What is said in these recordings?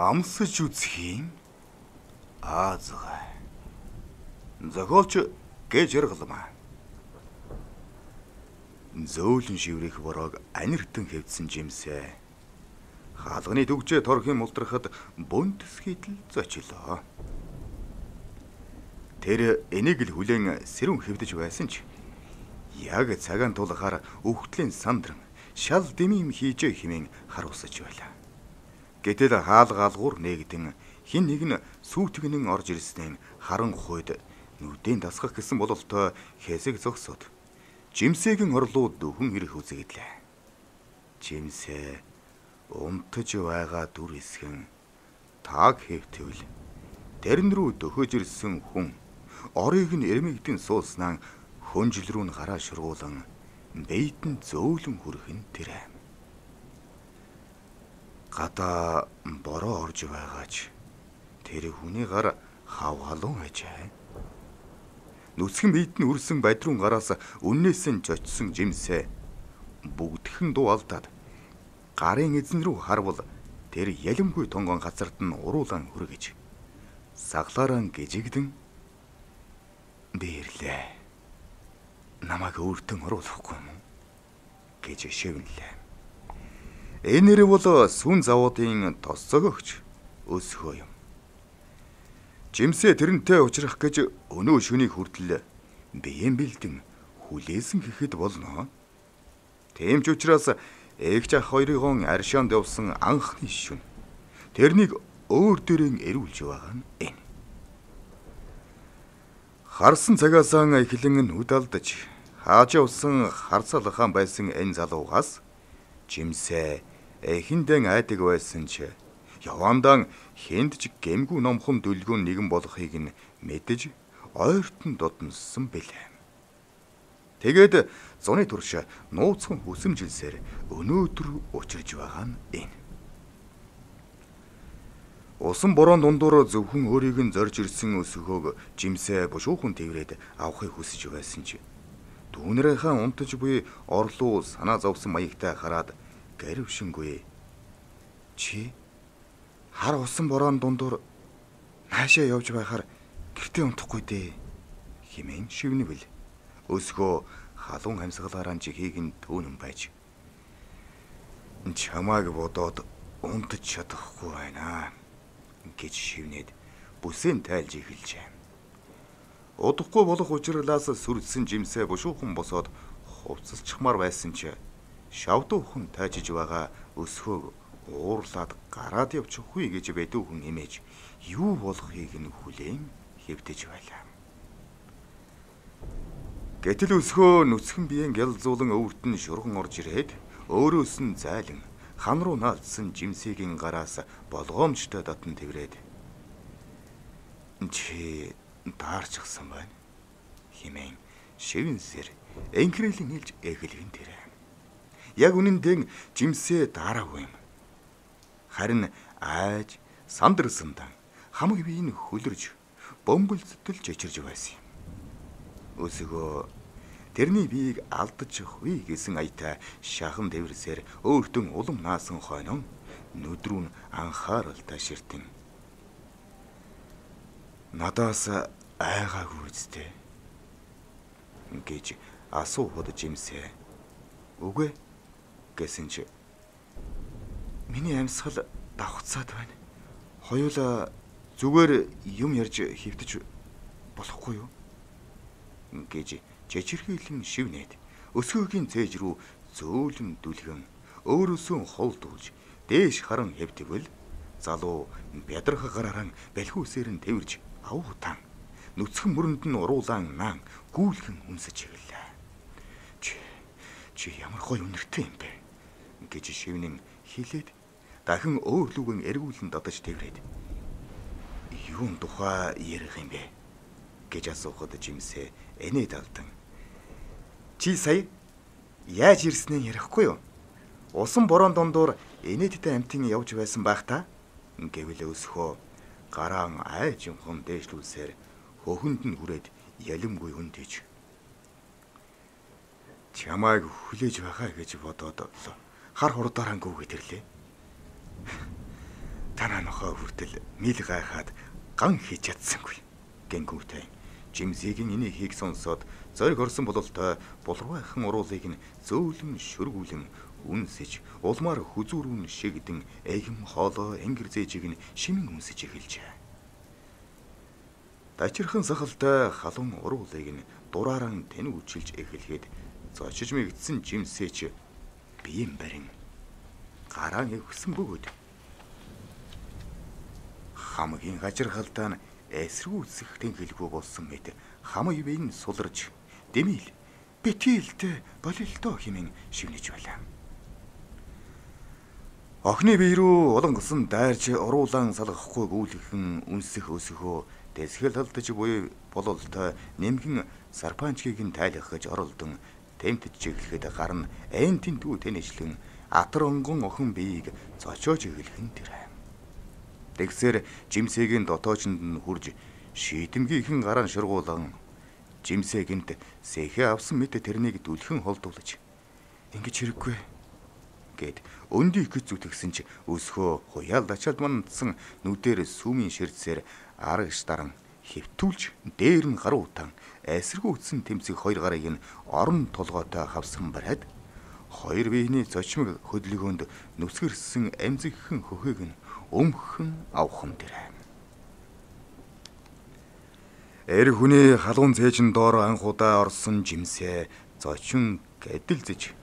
Амсаж үзэх юм. Аазгаа. Зохиолч гэж яргалмаа. Зөөлөн шиврэх борог аниртан хэвдсэн жимсээ. Хаалганы дүгжээ торхийн мултрахад бөнтсгийтэл зочлоо. Тэр энийг л хүлээн сэрүүн хэвдэж байсан ч яг цагаан тулахаар өвхтлийн сандран шал дэмим хийжээ хэмээн харуулсаж байлаа. Гэтэл хаалгаалгуур нэгдэн хин нэг нь сүйтгэнэн орж ирснээр харан хойд нүдэн дасгах гэсэн бололтой хэсэг зогсоод жимсээгийн орлуу дөхөн ирэх үзэгдлээ. Жимсээ унтаж байгаа дүр эсхэн тааг хэвтвэл дэрн рүү дөхөж ирсэн хүн орыг нь эрмэгдэн сууснаа хөнжил рүү нь гараа шургуулan бэйдэн зөөлөн хүрхэн тэрэ. Гадаа бороо орж байгаач тэр хүний гар хавгалуун ажээ. Нүцгэн бийдэн үрсэн бадрун гараас үннээс нь жочсон жимсээ бүгдхэн дуу алдаад гарын эзэн рүү харвал тэр ялимгүй тонгон газарт нь уруулан хүргэж саглаараа гжигдэн бирлээ. Намайг өөртөө оруулахгүй юм гэж шивнэлээ. Энэр бол сүн завуудын тос зөгөгч өсгөө юм. Жимсээ тэрнтэй уулзрах гэж өнөө шөний хүртэл биеэн бэлдэн хүлээсэн гэхэд болно. Тийм ч учраас эгч ах хоёрын аршаанд явсан анхны шөнө тэрнийг өөр дөрөөн эрүүлж байгаа нь энэ. Харсан цагаасаа эхлэн нүд алдаж хааж явсан харцалхан байсан энэ залуугаас жимсээ эхэндэн айдаг байсан ч явандан хэнд ч гэмгүй номхон дүлгүүн нэгэн болохыг нь мэдэж ойртон додноссон бэлээ. Тэгээд зуны турш нууцхан хүсэмжилсээр өнөөдөр учирж байгаа нь энэ. Усан борон дундуур зөвхөн өөрийг нь зорж ирсэн өсгөөг жимсээ бушуухан тэрвэрэд авахыг хүсэж байсан ч дүүнэрийнхээ унтаж буй орлуу санаа зовсон маягтай хараад гэрвшингүй. Чи хар усан борон дундуур наашаа явж байхаар гэртээ унтахгүй дээ хэмээн шивнэвэл өсгөө халуун амьсгалаараа чихийг нь төөнөн байж чамааг бодоод унтаж чадахгүй байна гэж шивнээд бүсээн тайлж эхэлжээ. Удахгүй болох учирлаас сүрдсэн жимсээ бушуухан босоод хувцалчихмаар байсан ч шавдуухан тайжиж байгаа өсгөөг уурлаад гараад явчихгүй гэж бэдүүхэн имэж юу болохыг нь хүлээн хэвтэж байлаа. Гэтэл өсгөө нүцгэн биеийн гялзуулан өвөрт нь шурган орж ирээд өөрөөс нь зайлан хан руу наалдсан жимсээгийн гараас болгоомжтой дотн тэрвэрэд чи даарчихсан байна хэмээн шивнсээр энхрэлэн хэлж эхлэн тэрэ. Яг үнэндээ жимсээ даараагүй юм. Харин айж сандарсандан хамаг биеийг хөлөрж бөмбөлцөж чичирж байсан юм. Өсгөө тэрний биеийг алдчихгүй гэсэн аятай шахан дэвэрсээр өөртөө улам наасан хойно нүд рүү анхааралтай ширтэн. Надаас айгаагүй үстэй гэж асуухад жимсээ үгүй гэсэн чи миний амьсгал давхцаад байна. Хоёулаа зүгээр юм ярьж хэвтэж болохгүй юу гэж чичирхийлэн шивнээд өсгөөгийн цээж рүү зөөлөн дүлгэн өөрөөсөө холдуулж дээш харан хэвтвэл залуу бядрах гараараа бэлхүүсээр нь тэрж авуутан нүцгэн мөрөнд нь уруулаан наан гүйлхэн өмсөж ирлээ. Чи ямар гоё үнэртэй юм бэ гэж шивнэн хэлээд дахин өөр лүгэн эргүүлэн додож тэрвэрэд юун тухай ярих юм бэ гэж асуухад жимсээ энэд алдан. Чи сая яаж ирснээ ярихгүй юу? Усан борон дундуур энэдтэй амтын явж байсан байх та гэвэл өсгөө гараан айж юмхан дээшлүүлсээр хөхөнд нь хүрээд ялимгүй хүндэж чамайг хүлээж байгаа гэж бодоод хар хурдаараа гүгээд ирлээ. Танаа нохоо хүртэл мил гайхаад ган хийж чадсангүй. Гингүүтэй. Жимсигийн энийг хийх сонсоод зориг орсон бололтой булруайхан уруулыг нь зөөлөн шүргүүлэн үнсэж улмаар хүзүүрүүн шигдэн эгм хоолоо энгэр зээжийг нь шимэн үнсэж эхэлжээ. Дачирхан сахалтай халуун уруулыг нь дурааран тэнүүчилж эхлэхэд зочиж мэгдсэн жимсээч биеийн барин гараа өвсөн бөгөөд хамгийн гажирхалтай нь эсрүүцэх тэнхэлгүй болсон мэт хамаг бие нь суларж дэмил битилтэй болилдоо хэмээн шивнэж байлаа. Охны бие рүү олонгосон дайрч уруулан салгахгүй гүйлхэн үнсэх өсөхөө дэсгэл алдаж буй бололтой нэмгэн сарпанчгийг нь тайлах гэж оролдон тэмтэж чиглэхэд гарна айн тентүү тэнэжлэн атар онгон охин биеийг зочоож эглэхэн тэр. Тэгсээр жимсээгийн дотоочонд нь хурж шийдэмгийнхэн гараан шургуулан жимсээгэнт сэхэ авсан мэт тэрнийг дүлхэн холдуулж ингэж хэрэггүй гэд өндий их зүтгэсэн ч өсхөө хуяал дачаад мандсан нүдээр сүмийн ширцээр арагш даран хэвтүүлж дээр нь гаруутан эсэргүүцсэн тэмцэг хоёр гарыг нь орон толгойтой хавсан бариад хоёр биений зочмог хөдөлгөөнд нүсгэрсэн амзигхэн хөхийг нь өмхөн авхан дэрэ. Эр хүний халуун цээжин доор анхудаа орсон жимсээ зочин гэдэлзэж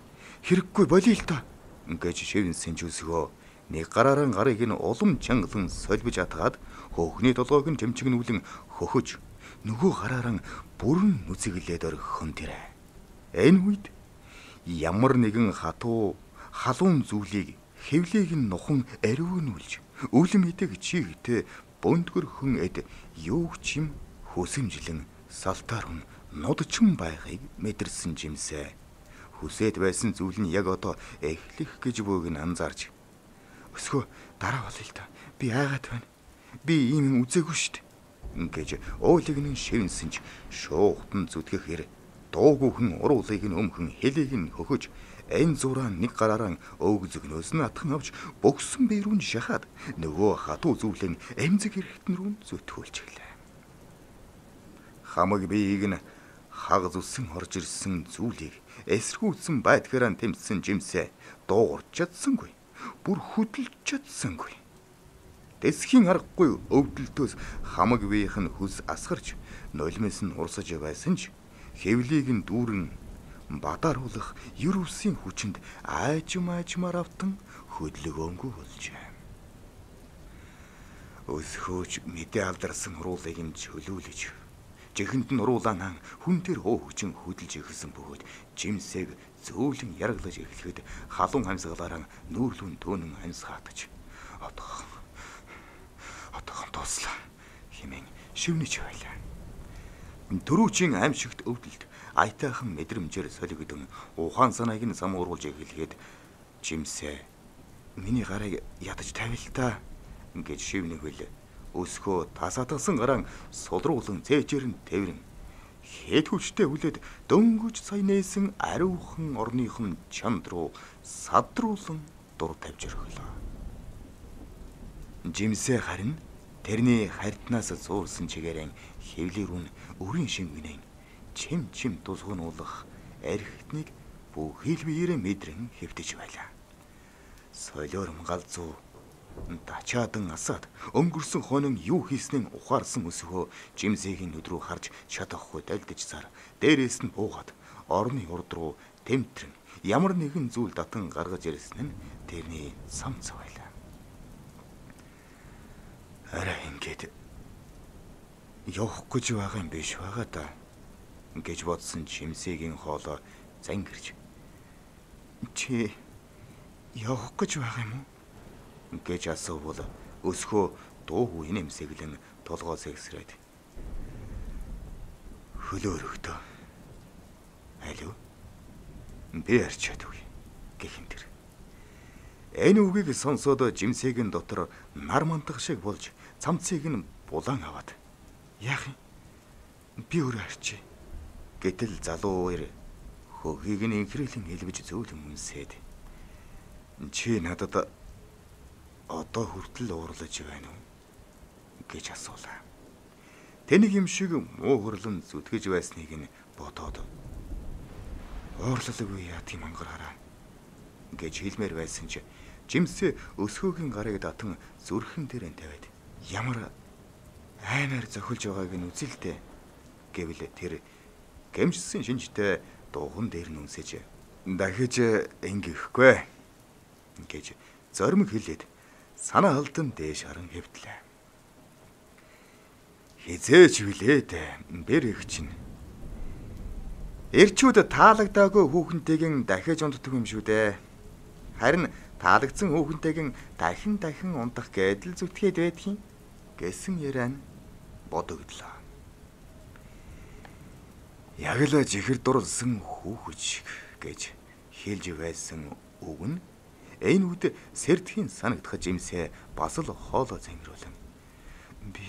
хэрэггүй болиё л та гэж шивнсэн ч өсгөө нэг гараараа гарыг нь улам чангалан солбиж атгаад хөөхний толгойг нь тэмчигнүүлэн хөхөж нөгөө гараараа бүрэн нүцэглээд орхихон дэрэ. Энэ үед ямар нэгэн хатуу халуун зүйлийг хэвлийг нь нухан ариунүүлж үлэм идэг чигтэй бөндгөрхөн эд юуг чим хүсэмжлэн салтаар хүн нодчин байхыг мэдэрсэн жимсээ хүсэд байсан зүйл нь яг одоо эхлэх гэж бөөг нь анзаарч өсгөө дараа болъё л та би айгаад байна би ийм үзээгүй штт гэж уулыг нь шивнсэн ч шуугтан зүтгэхээр дуугүйхэн уруулыг нь өмхөн хэлийг нь хөхөж энэ зураа нэг гараараа өөг зөгнөөс нь атхан авч богсон бие рүү шахаад нөгөө хатуу зүйлэн эмзэг хэрэгтэн рүү зүтгүүлж эхлэв. Хамаг биеийг нь хаг зүсэн орж ирсэн зүйлийг эсэргүүцсэн байдгаараа тэмцсэн жимсээ дуугарч чадсангүй. Бүр хөдөлж чадсангүй. Дэсхийн аргагүй өвдөлтөөс хамаг биеийнх нь хүс асгарч нулимс нь урсаж байсан ч хэвлийг нь дүүрэн бадааруулах юрвсийн хүчинд аажмаар автан хөдөлгөөнгүй болжээ. Өсхөөж мэдээ алдарсан уруулыг нь чөлөөлөж жихэнд нь уруулаанаа хүн дээр хөөгчин хөдөлж ихсэн бөгөөд жимсээг зөөлөн яраглаж эхлэхэд халуун амьсгалаараа нүүрлүүн төөнөн амьсгаатаж одоохон тууслаа хэмээн шивнэж байлаа. Төрүүчийн аимшигт өвдөлт айтайхан мэдрэмжээр солигдсон ухаан санааг нь самууруулж эхлэхэд жимсээ миний гарыг ядаж тавил та гэж шивнэх үл өсхөө тасаатгсан гараан сулруулан цээжээр нь тэрэн хэд хүчтэй хүлээд дөнгөж сая нээсэн ариухан орныхон чанд руу садруулан дур тавьж өглөө. Жимсээ харин тэрний харьтнаас зуурсан чигээрэн хэвлэрүүн өрийн шингэнэн чим тусгнуулах архитныг бүхэл биеэрээ мэдрэн хэвтэж байлаа. Солиорм галзуу дачаадан асаад өнгөрсөн хоног юу хийснээ ухаарсан өсгөө жимсээгийн нүд рүү харж чадахгүй дальдаж цаар дээрээс нь буугаад орны урд руу тэмтрэн ямар нэгэн зүйл татан гаргаж ирсэн нь тэрний самц байлаа. Арай ингээд явах гэж байгаа юм биш байгаа да гэж бодсон жимсээгийн хоолой зангирч чи явах гэж байгаа юм уу гэж асуувал өсхөө дуугүй нэмсэглэн толгоо сэгсрээд хөлөөрөгдөө алив би арчаадгүй гэхин тэр энэ үгийг сонсоод жимсээгийн дотор нар мантах шиг болж цамцыг нь булан аваад яах юм би өөрөө арчи гэтэл залуу ир хөгийг нь инхрэйлэн хэлбэж зөөлөн үнсээд чи надад одоо хүртэл уурлаж байна уу гэж асуулаа. Тэнийг юм шиг муу хөрлөн зүтгэж байсныг нь бодоод уурлалгүй яа тийм ангараараа гэж хэлмээр байсан чи жимсээ өсгөөгийн гарыг татан зүрхэн дээр тавиад ямар аймаар зохилж байгааг нь үзэлтэй гэвэл тэр гэмжсэн шинжтэй дууган дээр нүнсэж дахиж ингэхгүй гэж зоримог хэлээд санаа алдан дээш харан хэвтлээ. Хизээч билээд бэр их чинь эрчүүд таалагдаагүй хүүхэнтэйгэн дахиж унддаг юм шүү дээ. Харин таалагдсан хүүхэнтэйгэн дахин ундах гэдэл зүтгээд байдгийн гэсэн яриа нь бодогдлоо. Яг л жихэр дурлсан хүүхэж гэж хэлж байсан үг нь энэ үед сэрдхийн санагдах жимсээ бас л хоолоо зэмрүүлэн би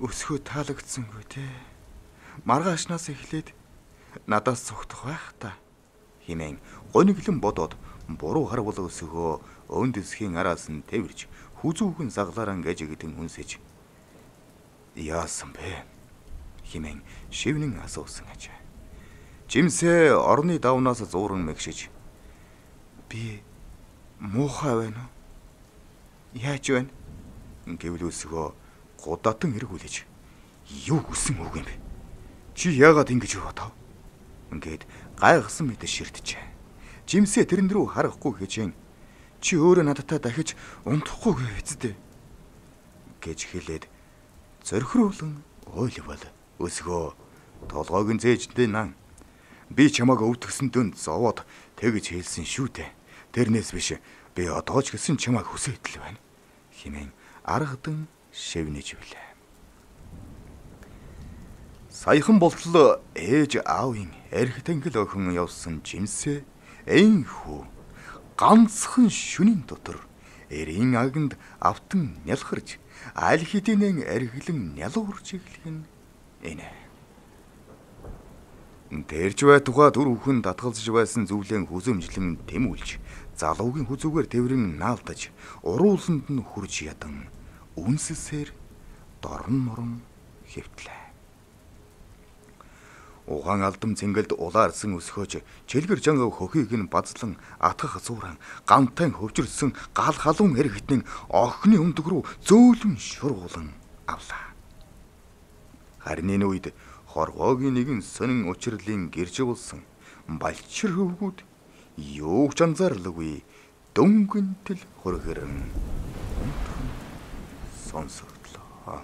өсгөө таалагдсангүй те маргаашнаас эхлээд надаас цогтох байх та хэмээн гониглон бодоод буруу харвал өсгөө өн дэсхийн араас нь тэрж хүзүүхэн заглаараа гэж гэдэн үнсэж яасан бэ хэмээн шивнэн асуусан аж. Жимсээ орны давнаас зууран мэгшиж би муухай байна уу? Яаж байна? Гэвэл өсгөө гудатан эргүүлж юу хүсэн үг юм бэ? Чи яагаад ингэж бодов? Ингээд гайхсан мэт ширтжээ. Жимсээ тэрэн рүү харахгүй гэжэн чи өөрөө надтай дахиж унтахгүй гэвэцтэй гэж хэлээд зорхируулан ойлвол өсгөө толгойг нь зээждээ нан би чамааг өвдгсөн дүнд зовоод тэгж хэлсэн шүү дээ. Тэрнээс биш би одоо ч гэсэн чамааг хүсэтэл байна хэмээн аргадан шивнэж билээ. Саяхан болтол ээж аавын эрх тэнгэл охин явсан жимсээ энхүү ганцхан шөнийн дотор эрийн аганд автан нялхарж аль хэдийнэ эргэлэн нялуурж эхлэх нь энэ. Тэрж бай тухай түр бүхэн татгалзаж байсан зүйлэн хүзөмжлэн тэмүүлж залуугийн хүзүүгээр тэрэн наалдаж урууланд нь хурж ядан үнсэсээр дорн морон хэвтлээ. Угаан алдам цэнгэлд улаарсан өсгөөж чилгэр жанга хөхийг нь базлан атгах зууран гантай хөвжирсэн гал халуун эргэтнэн охины өмдөг рүү зөөлөн шургуулan авлаа. Харин энэ үед хорвоогийн нэгэн сонин учрлын гэрж болсон балчир хөвгүүд юу ч анзаарлаггүй дөнгөнтөл хөргөрөн сонсогдлоо.